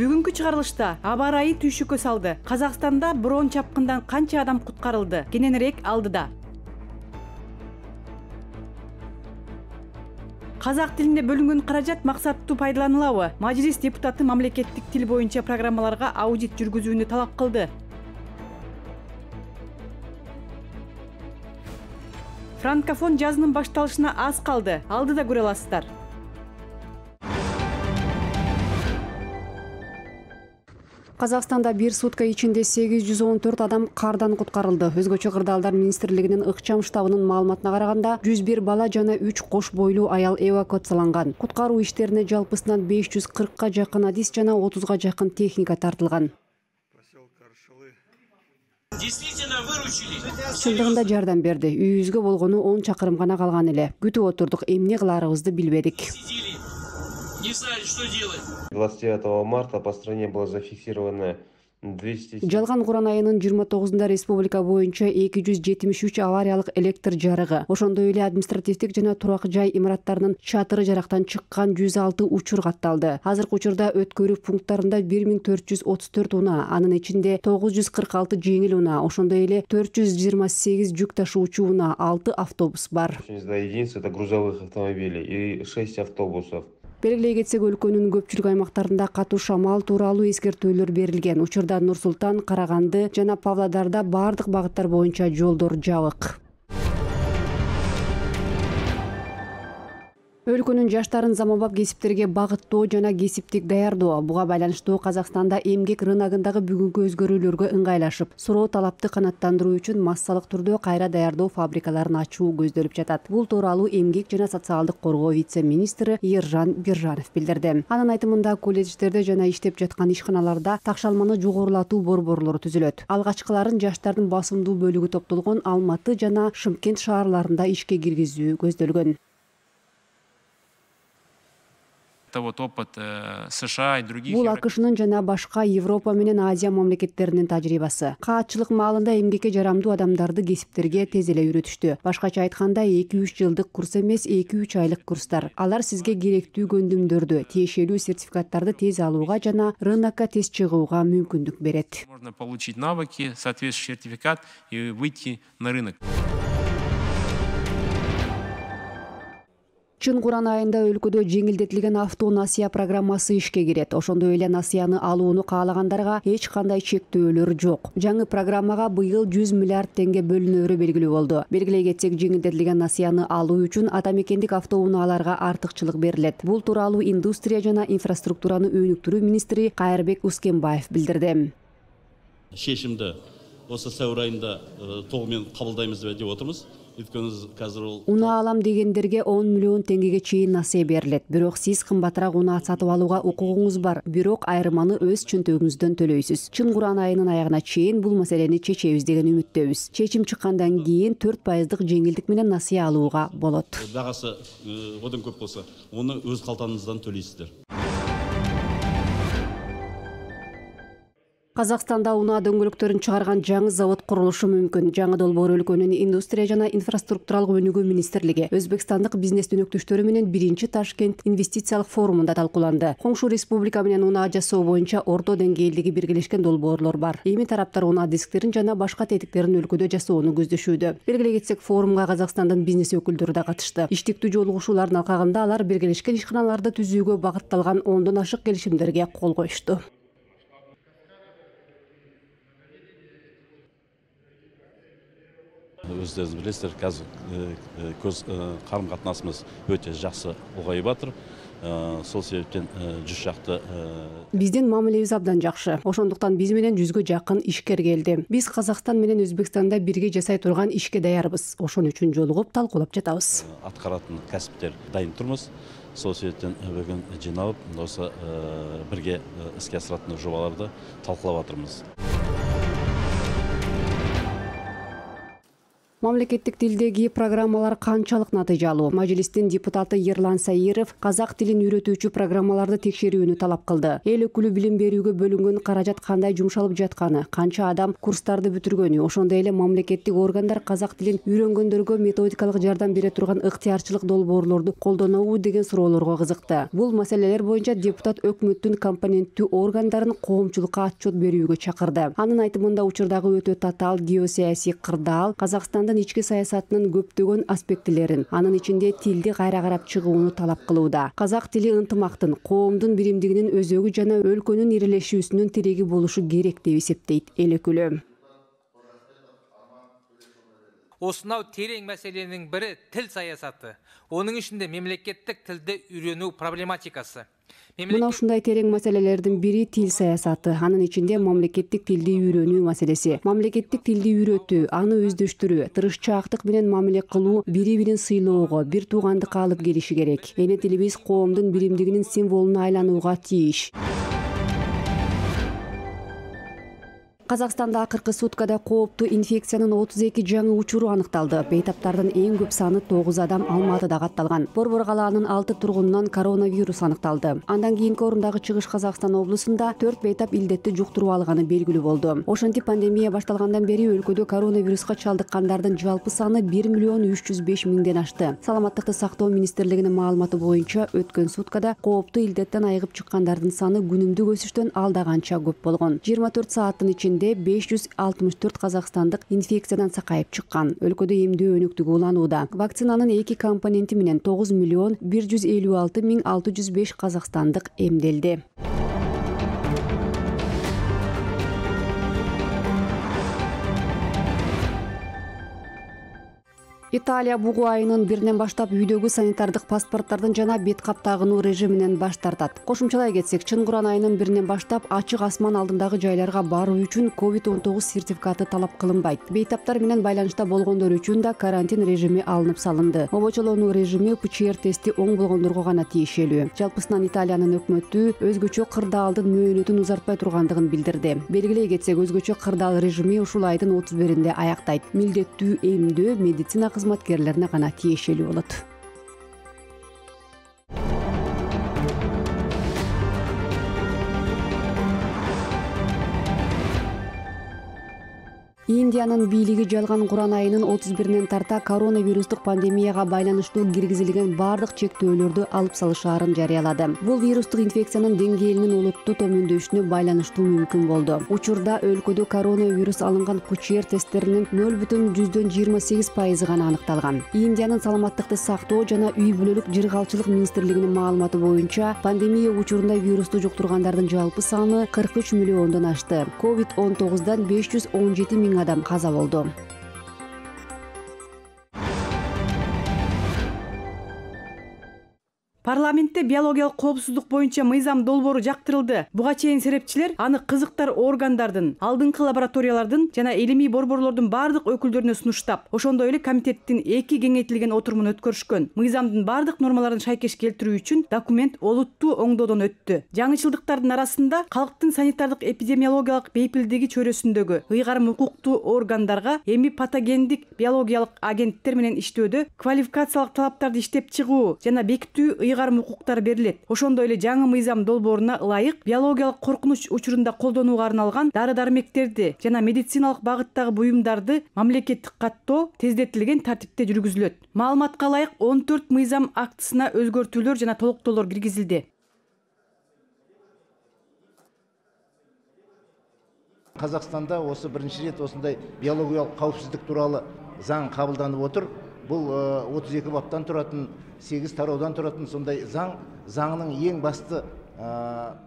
Бүгүнкү чыгарылышта аба ырайы түйшүккө салды. Казакстанда броон чапкындан канча адам куткарылды? Кененирээк алдыда. Казак тилинде бөлүнгөн каражат максаттуу пайдаланылабы? Мажлис депутаты мамлекеттик тил боюнча программаларга аудит жүргүзүүнү талап кылды. Франкофон жазынын башталышына аз калды. Алдыда көрө аласыздар. Казакстанда бир сутка ичинде 814 адам кардан куткарылды. Өзгөчө кырдаалдар министрлигинин ыкчам штабынын маалыматына караганда 101 бала жана 3 кош бойлуу аял эвакуацияланган. Куткаруу иштерине жалпысынан 540ка жакын адис жана 30га жакын техника тартылган. Чындыгында жардам берди. Үйүбүзгө болгону 10 чакырым гана калган эле. Күтүп отурдук, эмне кыларыбызды билбедик. Не знали, что делать. 29 марта по стране было зафиксировано 200... Жалган Куран айынын 29-да республика боюнча 273 авариялык электр жарыгы, ошондой эле административдик жана турак жай имараттарынын чатыры жарактан чыккан 106 учур катталды. Азыркы учурда өткөрүү пункттарында 1434 унаа, анын ичинде 946 жеңил унаа, ошондой эле 428 жүк ташуучу унаа, 6 автобус бар. 82 единиц это грузовых автомобилей и 6 автобусов. Белгилей кетсек, өлкөнүн көпчүлүк аймактарында катуу шамал тууралуу эскертүүлөр берилген. Учурда Нур Султан, Караганды жана Павлодарда бардык багыттар боюнча жолдор жабык. Өлкөнүн жаштарын заманбап кесиптерге багыттоо жана кесиптик даярдоо. Буга байланыштуу Казакстанда эмгек рыногундагы бүгүнкү өзгөрүүлөргө ыңгайлашып, суроо талапты канааттандыруу үчүн массалык түрдө кайра даярдоо фабрикаларын ачуу көздөлүп жатат. Бул тууралуу эмгек жана социалдык коргоо вице-министри Ержан Биржанов билдирди. Анын айтымында колледждерде жана иштеп жаткан ишканаларда такшалманы жогорулатуу борборлору түзүлөт. Алгачкыларын жаштардын басымдуу бөлүгү топтолгон Алматы жана Шымкент шаарларында ишке киргизүү көздөлгөн. Вот опыт США и других. Бул АКШнын жана башка Европа менен Азия мамлекеттеринин тажрыйбасы. Каатчылык маалында эмгекке жарамдуу адамдарды кесиптерге тез эле үйрөтүштү. Башкача айтканда 2-3 жылдык курс эмес, 2-3 айлык курстар. Алар сизге керектүү көндүмдөрдү, тиешелүү сертификаттарды тез алууга жана рынокко тез чыгууга мүмкүндүк берет. Можно получить навыки, соответствующий сертификат и выйти на рынок. Чын Куран айында өлкөдө жеңилдетилген авто насыя программасы ишке кирет. Ошондой эле насыяны алууну каалагандарга эч кандай чектөөлөр жок. Жаңы программага быйыл 100 миллиард теңге бөлүнөөрү белгилүү болду. Белгилей кетсек, жеңилдетилген насыяны алуу үчүн ата мекендик автоунааларга артыкчылык берилет. Бул тууралуу индустрия жана инфраструктураны өнүктүрүү министри Кайырбек Ускенбаев билдирди. Шешимди осы сәуір айында толугу кабылдайбыз деп отурбуз. Унаа алам дегендерге 10 миллион теңгеге чейин насыя берилет. Бирок сиз кымбатыраак унаа сатып алууга укугуңуз бар. Бирок айрыманы өз чөнтөгүңүздөн төлөйсүз. Чын Куран айынын аягына чейин бул маселени чечебиз деген үмүттөбүз. Чечим чыккандан кийин 4% жеңилдик менен насыя алууга болот. Багасы одан көп болсо, оны өз калтаңыздан төлөйсүздөр. Казакстанда унаа дөңгөлөктөрүн чыгарган жаңы завод курулушу мүмкүн. Жаңы долбоор өлкөнүн индустрия жана инфраструктуралык өнүгүү министрлиги Өзбекстандык бизнес өнөктөштөрү менен 1-Ташкент инвестициялык форумунда талкууланды. Коңшу республика менен унаа жасоо боюнча орто деңгээлдеги биргелешкен долбоорлор бар. Эми тараптар унаа дисктерин жана башка тетиктерин өлкөдө жасоону көздөшүүдө. Белгилей кетсек, форумга Казакстандын бизнес өкүлдөрү да катышты. Иштиктүү жолугушуулардын алкагында алар биргелешкен ишканаларды түзүүгө багытталган 10дон ашык келишимдерге кол коюшту. Өздеріңіз білесіздер, қазір көз қарым-қатынасымыз өте жақсы ұлғайып жатыр. Сол себептен 100 шақты биздин мамилебиз абдан жакшы. Ошондуктан биз менен 100гө жакын ишкер келди. Биз Казакстан менен Өзбекстанда бирге жасай турган ишке даярбыз. Ошон үчүн жолугуп талкуулап жатабыз. Аткаратын кәсиптер дайын турмуз. Сол себептен бүгүн жиналып, осы бирге иске асыратын жобаларды талкуулап жатырмыз. Мамлекеттик тилдеги программалар канчалык натыйжалуу? Мажлистин депутаты Ерлан Саиров казак тилин үйрөтүүчү программаларды текшерүүнү талап кылды. Эл өкүлү билим берүүгө бөлүнгөн каражат кандай жумшалып жатканы, канча адам курстарды бүтүргөнү, ошондой эле мамлекеттик органдар казак тилин үйрөнгөндөргө методикалык жардам бере турган ыктыярчылык долбоорлорду колдонобу деген суроолорго кызыкты. Бул маселелер боюнча депутат өкмөттүн компоненттүү органдарын коомчулукка отчет берүүгө чакырды. Анын айтымында учурдагы өтө татаал геосаясий кырдаал Казакстандын ички саясатынын көптөгөн аспектилерин, анын ичинде тилди кайра карап чыгууну талап кылууда. Казак тили ынтымактын, коомдун биримдигинин өзөгү жана өлкөнүн ирилешүүсүнүн тиреги болушу керек деп эсептейт эл өкүлү. Осынау терең мәселенің бірі тил саясаты. Оның ішінде мемлекеттік тілді үйрену проблематикасы. Мына ушундай терең маселелердин бири тил саясаты, анын ичинде мамлекеттик тилди үйрөнүү маселеси. Мамлекеттик тилди үйрөтүү, аны өздөштүрүү, тырышчаактык менен мамиле кылуу бири-бирин сыйлоого, бир туугандыкка алып келиши керек. Эне тилибиз коомдун биримдигинин символуна айланууга тийиш. Казакстанда акыркы суткада кооптуу инфекциянын 32 жаңы учуру аныкталды. Бейтаптардын эң көп саны 9 адам Алматыда катталган. Борбор калаанын 6 тургунунан коронавирус аныкталды. Андан кийинки орундагы Чыгыш Казакстан облусунда 4 бейтап илдетти жуктуруп алганы белгилүү болду. Ошентип пандемия башталгандан бери өлкөдө коронавируска чалдыккандардын жалпы саны 1.305.000 ашты. Саламаттыкты сактоо министрлигинин маалыматы боюнча өткөн суткада кооптуу илдеттен айыгып чыккандардын саны күнүмдүк өсүштөн алда канча көп болгон. 24 сааттын ичинде 564 казакстандык инфекциядан сакайып чыккан. Өлкөдө эмдөө өнүктүгү уланууда. Вакцинанын 2 компоненти менен 9.156.605 казакстандык эмделди. Италия бугу айынын 1-нен баштап үйдөгү санитардык паспорттардын жана бет кап тагынуу режиминен баш тартат. Кошумчалай кетсек, Чынгыран айынын 1-нен баштап ачык асман алдындагы жайларга баруу үчүн COVID-19 сертификаты талап кылынбайт. Бейтаптар менен байланышта болгондор үчүн да карантин режими алынып салынды. Обочолонуу режими ПЧР тести оң болгондорго гана тиешелүү. Жалпысынан Италиянын өкмөтү өзгөчө кырдаалдын мөөнөтүн узартпай тургандыгын билдирди. Белгилей кетсек, өзгөчө кырдаал режими ушул айдын 31-инде аяктайт. Милдеттүү эмдөө медицина кызматкерлерине гана тиешелүү болот. Индиянын бийлиги жалган Куран айынын 31-нен тарта коронавирустук пандемияга байланыштуу киргизилген бардык чектөөлөрдү алып салышаарын жарыялады. Бул вирустук инфекциянын деңгээлинин олуттуу төмөндөшүнө байланыштуу мүмкүн болду. Учурда өлкөдө коронавирус алынган ПЧР тесттеринин 0,28% гана аныкталган. Индиянын саламаттыкты сактоо жана үй бүлөлүк жыргалчылык министрлигинин маалыматы боюнча, пандемия учурунда вирусту жуктургандардын жалпы саны 43 миллиондон ашты. COVID-19дан 517 000 адам каза болду. Парламентте биологиялык коопсуздук боюнча мыйзам долбоору жактырылды. Буга чейин серепчилер аны кызыктар органдардын, алдыңкы лабораториялардын жана илимий борборлордун бардык өкүлдөрүнө сунуштап, ошондой эле комитеттин 2 кеңейтилген отурумун өткөрүшкөн. Мыйзамдын бардык нормаларын шайкеш келтирүү үчүн документ олуттуу оңдоодон өттү. Жаңычылдыктардын арасында калктын санитардык эпидемиологиялык бейпилдиги чөйрөсүндөгү ыйгарым укуктуу органдарга эми патогендик биологиялык агенттер менен иштөөдө квалификациялык талаптарды иштеп чыгуу жана бекитүү ыйгарым укуктар берилет. Ошондой эле жаңы мыйзам долбооруна ылайык биологиялык коркунуч учурунда колдонууга арналган дары-дармектерди жана медициналык багыттагы буюмдарды мамлекеттик каттоо тездетилген тартипте жүргүзүлөт. Маалыматка ылайык 14 мыйзам актысына өзгөртүүлөр жана толуктоолор киргизилди. Казакстанда осы биринчи рет осындай биологиялык кауіпсіздік туралы заң кабылданып отыр. Бұл 32 баптан тұратын, 8 тараудан тұратын сондай заңның ең басты.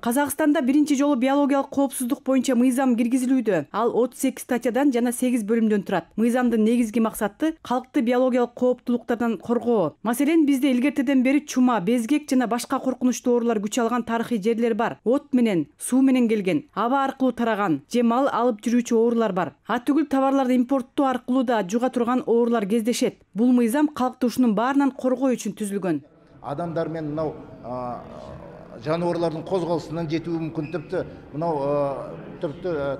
Казакстанда биринчи жолу биологиялык коопсуздук боюнча мыйзам киргизилүүдө. Ал 38 статьядан жана 8 бөлүмдөн турат. Мыйзамдын негизги максаты калкты биологиялык кооптулуктардан коргоо. Маселен, бизде илгертеден бери чума, безгек жана башка коркунучтуу оорулар күч алган тарыхый жерлер бар. От менен, суу менен келген, аба аркылуу тараган же мал алып жүрүүчү оорулар бар. Атүгүл товарларды импорттоо аркылуу да жуга турган оорулар кездешет. Бул мыйзам калкты ушунун баарынан коргоо үчүн түзүлгөн. Адамдар мен мынау жануарлардын козголусунан жетүүи мүмкүн, типти мынау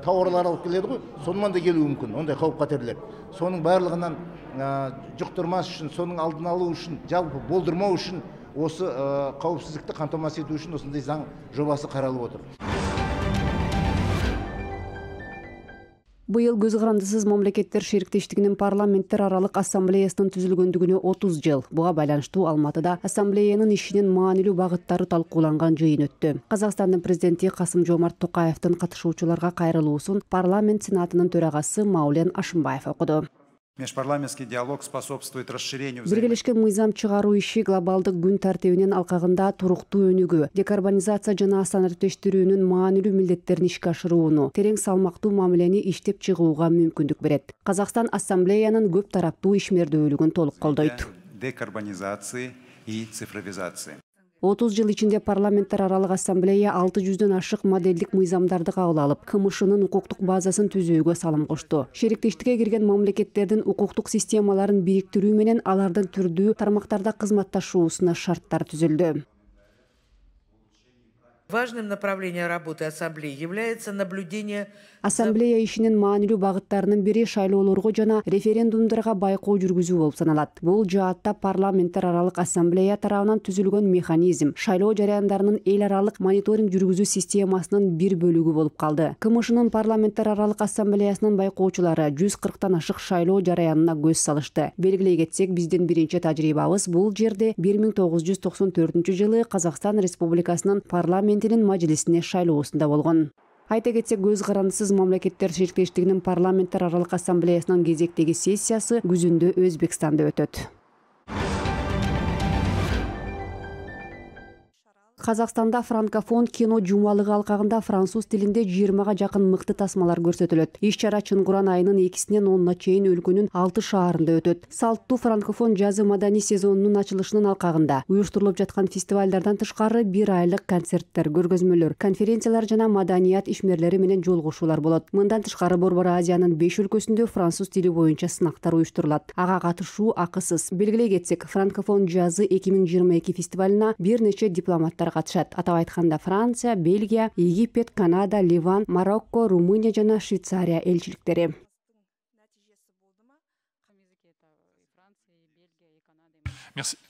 тауарлар алып келеді ғой, сонымен да келуі мүмкін, ондай қауіп қатерлер. Соның барлығынан жұқтырмас үшін, соның алдын алу үшін, жалпы болдырмау үшін, осы қауіпсіздікті қамтамасыз ету үшін осындай заң жобасы қаралып отыр. Быйыл көз карандысыз мамлекеттер шериктештигинин парламенттер аралык ассамблеясынын түзүлгөндүгүнө 30 жыл. Буга байланыштуу Алматыда ассамблеянын ишинин маанилүү багыттары талкууланган жыйын өттү. Казакстандын президенти Касым-Жомарт Токаевдин катышуучуларга кайрылуусун парламент сенатынын төрагасы Маулен Ашымбаев окуду. Межпарламентский диалог способствует расширению Биргелешкен мыйзам чыгаруу иши глобалдык күн тартибинин алкагында туруктуу өнүгүү, декарбонизация жана санариптештирүүнүн маанилүү милдеттерин ишке ашырууну, терең салмактуу мамилени иштеп чыгууга мүмкүндүк берет. Казакстан ассамблеянын көп тараптуу ишмердүүлүгүн толук колдойт. Декарбонизации и цифровизации. 30 жыл ичинде парламенттер аралык ассамблея 600дөн ашык моделдик мыйзамдарды кабыл алып, КМШнын укуктук базасын түзүүгө салым кошту. Шериктештикке кирген мамлекеттердин укуктук системаларын бириктирүү менен алардын түрдүү тармактарда кызматташуусуна шарттар түзүлдү. Важным направлением работы Ассамблеи является наблюдение. Ассамблея ишинин маанилүү багыттарынын бири шайлоолорго жана референдумдарга байкоо жүргүзүү болуп саналат. Бул жаатта парламенттер аралык ассамблея тарабынан түзүлгөн механизм шайлоо жарыяндарынын эл аралык мониторинг жүргүзүү системасынын бир бөлүгү болуп калды. КМШнын парламенттер аралык ассамблеясынын байкоочулары 140тан ашык шайлоо жарыянына көз салышты. Белгилей кетсек, биздин биринчи тажрыйбабыз бул жерде 1994 Казакстан Республикасынын парламентинин мажлисине шайлоосунда болгон. Айта кетсек, көз карандысыз мамлекеттер шериктештигинин парламенттер аралык ассамблеясынын кезектеги сессиясы күзүндө Өзбекстанда өтөт. Казакстанда франкофон кино жумалыгы алкагында француз тилинде 20га жакын мыкты тасмалар көрсөтүлөт. Иш-чара Чынгуран айынын 2-синен 10-на чейин өлкөнүн 6 шаарында өтөт. Салттуу франкофон жазы маданий сезонунун ачылышынын алкагында уюштурулуп жаткан фестивалдардан тышкары 1 айлык концерттер, көргөзмөлөр, конференциялар жана маданият ишмерлери менен жолугушуулар болот. Мындан тышкары Борбор Азиянын 5 өлкөсүндө француз тили боюнча сынактар уюштурулат. Ага катышуу акысыз. Белгилей кетсек, франкофон жазы 2022 фестивалына бир нече дипломаттар катышат. Атап айтканда Франция, Бельгия, Египет, Канада, Ливан, Марокко, Румыния жана Швейцария элчиликтери.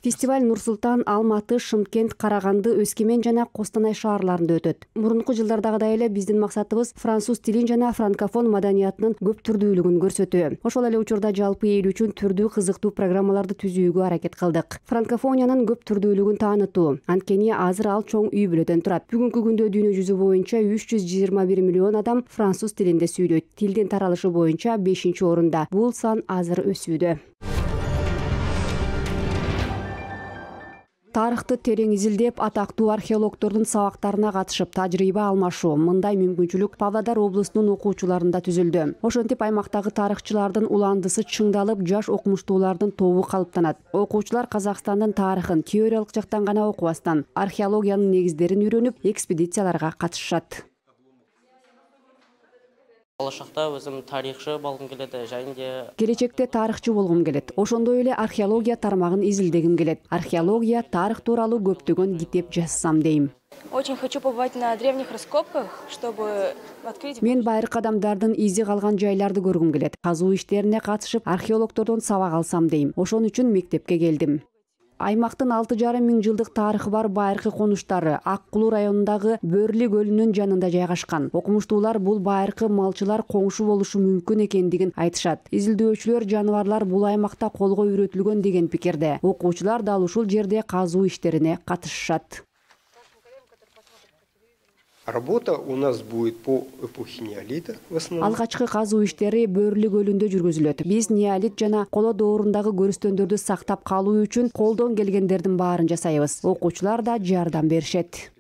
Фестиваль Нур-Султан, Алматы, Шымкент, Караганды, Өскемен жана Костанай шаарларында өтөт. Мурунку жылдардагыдай эле биздин максатыбыз француз тилин жана франкофон маданиятынын көп түрдүүлүгүн көрсөтүү. Ошол эле учурда жалпы эл үчүн түрдүү кызыктуу программаларды түзүүгө аракет кылдык. Франкофониянын көп түрдүүлүгүн таанытуу. Анткени азыр ал чоң үй бүлөдөн турат. Бүгүнкү күндө дүйнө жүзү боюнча 321 миллион адам француз тилинде сүйлөйт. Тилдин таралышы боюнча 5-орунда. Бул сан азыр өсүүдө. Тарыхты терең изилдеп, атактуу археологдордун сабактарына катышып тажрыйба алмашуу. Мындай мүмкүнчүлүк Павлодар облусунун окуучуларында түзүлдү. Ошентип аймактагы тарыхчылардын уландысы чыңдалып, жаш окумуштуулардын тобу калыптанат. Окуучулар Казакстандын тарыхын теориялык жактан гана окубастан, археологиянын негиздерин үйрөнүп, экспедицияларга катышышат. Болашакта өзүм тарыхчы болгум келет, және келечекте тарыхчы болгум келет. Ошондой эле археология тармагын изилдегим келет. Археология, тарых тууралуу көптөгөн китеп жазсам дейм. Очень хочу побывать на древних раскопках, чтобы открыть. Мен байыркы адамдардын изи калган жайларды көргүм келет. Казуу иштерине катышып, археологдордон сабак алсам дейм. Ошон үчүн мектепке келдим. Аймактын 6,5 миң жылдык тарыхы бар байыркы конуштары Ак Кулуу районундагы Бөрли көлүнүн жанында жайгашкан. Окумуштуулар бул байыркы малчылар коңшу болушу мүмкүн экендигин айтышат. Изилдөөчүлөр жаныбарлар бул аймакта колго үйрөтүлгөн деген пикирде. Окуучулар дал ушул жерде казуу иштерине катышышат. Работа у нас будет по эпохе неолита в основном. Алгачкы казуу иштери Бөрли көлүндө жүргүзүлөт. Биз неолит жана коло доорундагы көрүстөндөрдү сактап калуу үчүн колдон келгендердин баарын жасайбыз. Окуучулар да жардам беришет.